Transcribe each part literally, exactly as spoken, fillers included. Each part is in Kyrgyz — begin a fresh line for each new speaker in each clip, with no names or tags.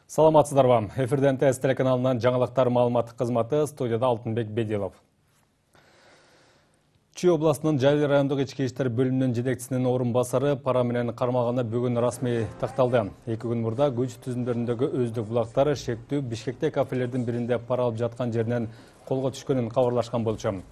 Саламатсыздарбы. Эфирден ТС телеканалынан жаңалыктар маалыматтык кызматы, студияда Алтынбек Бедилов. Чүй областынын Жайыл райондук ички иштер бөлүмүнүн жетекчисинин орун басары пара менен кармалганы бүгүн расмий такталды. эки күн мурда күч түзүмдөрүндөгү өздүк булактары шектүү Бишкекте кафелердин биринде пара алып жаткан жеринен колго түшкөнүн кабарлашкан болчу.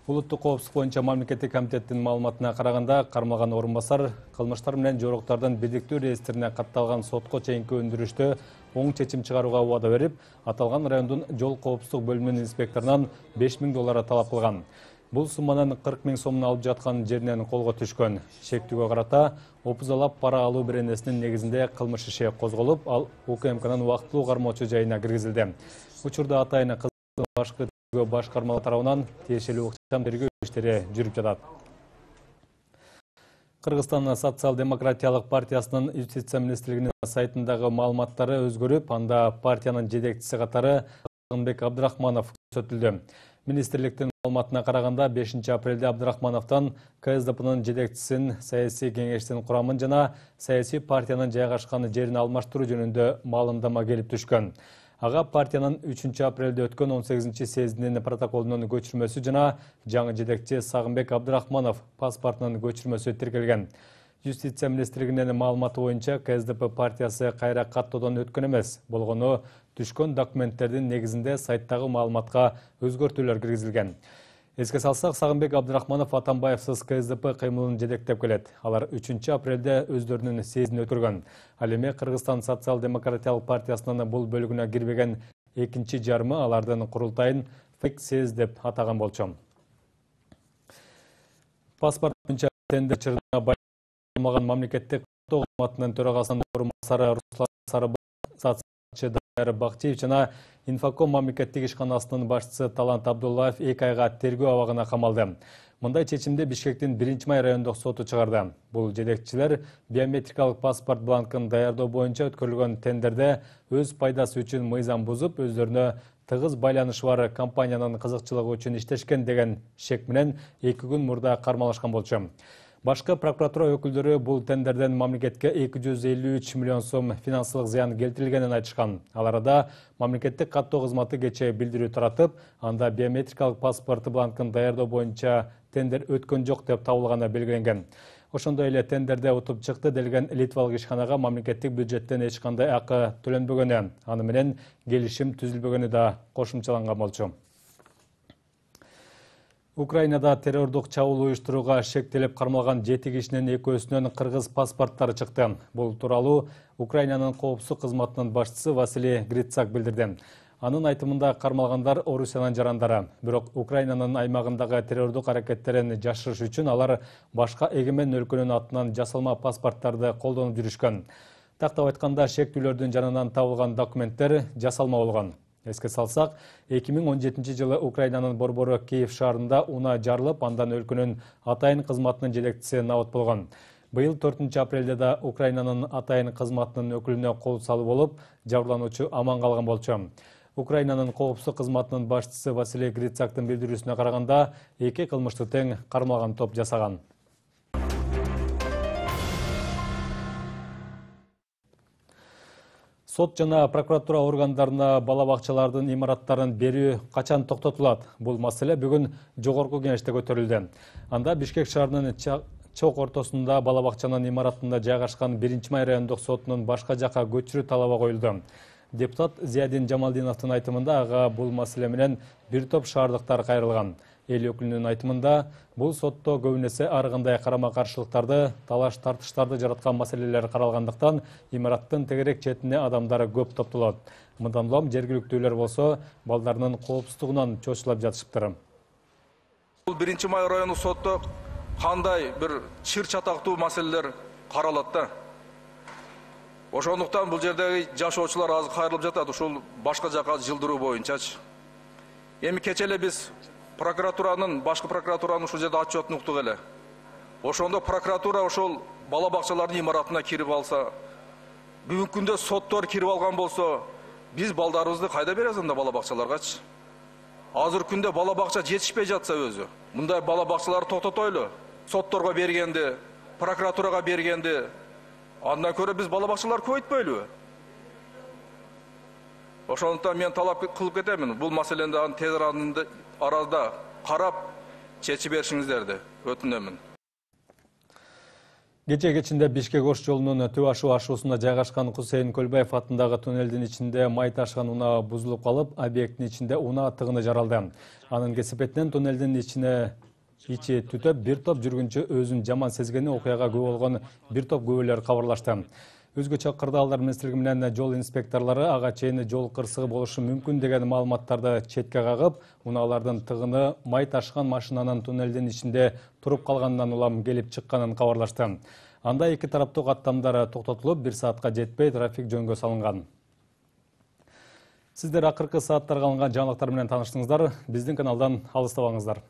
Улуттук коопсуздук боюнча мамлекеттик комитеттин маалыматына караганда, кармалган орун басар кылмыштар менен жоруктардын бирдиктүү реестрине катталган сотко чейинки өндүрүштө оң чечим чыгарууга убада берип, аталган райондун жол коопсуздук бөлүмүнүн инспекторунан беш миң доллар талап кылган. Бул сумманын кырк миң сомун алып жаткан жеринен колго түшкөн. Шектүүгө карата опузалап пара алуу беренесинин негизинде кылмыш иши козголуп, ал УКМКнын убактылуу кармоочу жайына киргизилди. Учурда атайын кыздын башкы тергөө башкармалары тарабынан тиешелүү ыкчам тергөө иштери жүрүп жатат. Кыргызстан социал-демократиялык партиясынын юстиция министрлигинин сайтындагы маалыматтары өзгөрүп, анда партиянын жетекчиси катары Сагынбек Абдрахманов көрсөтүлдү. Министрликтин маалыматына караганда, бешинчи апрелде Абдрахмановдон КСДПнын жетекчисин, саясий кеңештин курамын жана саясий партиянын жайгашкан жерин алмаштыруу жөнүндө маалымдама келип түшкөн. Ага партиянын үчүнчү апрелде өткөн он сегизинчи съездинин протоколунун көчүрмөсү жана жаңы жетекчи Сагынбек Абдрахманов паспортунун көчүрмөсү тиркелген. Юстиция министрлигинин маалыматы боюнча КСДП партиясы кайра каттоодон өткөн эмес, болгону түшкөн документтердин негизинде сайттагы маалыматка өзгөртүүлөр киргизилген. Эске салсак, Сагынбек Абдрахманов Атамбаевсыз КСДП кыймылын жетектеп келет. Алар үчүнчү апрелде өздөрүнүн съездин өткөргөн. Ал эми Кыргызстан социал-демократиялык партиясынын бул бөлүгүнө кирбеген экинчи жарымы алардын курултайын фейк съезд деп атаган болчу. Паспорт боюнча тендер чырына байланышкан мамлекеттик каттоо кызматынын төрагасынын орун басары Руслан Сарыбакчы Дайыр Бакчиев жана Инфоком мамлекеттик ишканасынын башчысы Талант Абдуллаев эки айга тергөө абагына камалды. Мындай чечимди Бишкектин биринчи май райондук соту чыгарды. Бул жетекчилер биометрикалык паспорт бланкын даярдоо боюнча өткөрүлгөн тендерде өз пайдасы үчүн мыйзам бузуп, өздөрүнө тыгыз байланышы бар компаниянын кызыкчылыгы үчүн иштешкен деген шек менен эки күн мурда кармалашкан болчу. Башкы прокуратура өкүлдөрү бул тендерден мамлекетке эки жүз элүү үч миллион сом финансылык зыян келтирилгенин айтышкан. Ал арада мамлекеттик каттоо кызматы кечээ билдирүү таратып, анда биометрикалык паспорт бланкын даярдоо боюнча тендер өткөн жок деп табылганы белгиленген. Ошондой эле тендерде утуп чыкты делген Литвалык ишканага мамлекеттик бюджеттен эч кандай акы төлөнбөгөнү, аны менен келишим түзүлбөгөнү да кошумчаланган болчу. Украинада террордук чабуул уюштурууга шектелип кармалган жети кишинин экөөсүнөн кыргыз паспорттары чыкты. Бул тууралуу Украинанын коопсуздук кызматынын башчысы Василий Грицак билдирди. Анын айтымында кармалгандар Орусиянын жарандары. Бирок Украинанын аймагындагы террордук аракеттерин жашырыш үчүн алар башка эгемен өлкөнүн атынан жасалма паспорттарды колдонуп жүрүшкөн. Тактап айтканда, шектүүлөрдүн жанынан табылган документтер жасалма болгон. Эске салсак, эки миң он жетинчи жылы Украинанын борбору Киев шаарында унаа жарылып, андан өлкөнүн атайын кызматынын жетекчиси набыт болгон. Быйыл төртүнчү апрелде да Украинанын атайын кызматынын өкүлүнө кол салуу болуп, жабырлануучу аман калган болчу. Украинанын коопсуздук кызматынын башчысы Василий Грицактын билдирүүсүнө караганда, эки кылмышты тең кармалган топ жасаган. Сот жана прокуратура органдарына бала бакчалардын имараттарын берүү качан токтотулат? Бул маселе бүгүн жогорку кеңеште көтөрүлдү. Анда Бишкек шаарынын чок ортосунда бала бакчанын имаратында жайгашкан биринчи май райондук сотунун башка жакка көчүрүү талабы коюлду. Депутат Зиядин Жамалдиновдун айтымында ага бул маселе менен бир топ шаардыктар кайрылган. Эл өкүлүнүн айтымында, бул сотто көбүнесе ар кандай карама-каршылыктарды, талаш-тартыштарды жараткан маселелер каралгандыктан, имараттын тегерек четине адамдар көп топтолот. Мындан улам жергиликтүүлөр болсо, балдарынын коопсуздугунан чочулап жатышыптыр.
Бул биринчи май району сотто кандай бир чыр чатактуу маселелер каралат да. Ошондуктан бул жердеги жашоочулар азыр кайрылып жатат, ушул башка жака жылдыруу боюнчачы. Эми кече эле биз прокуратуранын, башкы прокуратуранын ушул жерде отчетун уктук эле. Ошондо прокуратура ошол бала бакчалардын имаратына кирип алса, бүгүнкү күндө соттор кирип алган болсо, биз балдарыбызды кайда беребиз анда бала бакчаларгачы? Азыр күндө бала бакча жетишпей жатса өзү, мындай бала бакчаларды токтотойлу. Сотторго бергенди, прокуратурага бергенди, андан көрө биз бала бакчаларды көбөйтпөйлүбү? Ошондуктан мен талап кылып кетемин, бул маселени дагы тез арада карап чечип беришиңиздерди өтүнөмүн.
Кече кечинде Бишкек Ош жолунун Түп Ашу ашуусунда жайгашкан Кусейин Көлбаев атындагы туннелдин ичинде май ташыган унаа бузулуп калып, объекттин ичинде унаа тыгыны жаралды. Анын кесепетинен туннелдин ичине ичи түтөп, бир топ жүргүнчү өзүн жаман сезгени окуяга күбө болгон бир топ күбөлөр кабарлашты. Өзгөчө кырдаалдар министрлиги менен жол инспекторлору ага чейин жол кырсыгы болушу мүмкүн деген маалыматтарды четке кагып, унаалардын тыгыны май ташыган машинанын туннелдин ичинде туруп калганынан улам келип чыкканын кабарлашты. Анда эки тараптуу каттамдар токтотулуп, бир саатка жетпей трафик жөнгө салынган. Сиздер акыркы сааттарга алынган жаңылыктар менен тааныштыңыздар. Биздин каналдан алыстабаңыздар.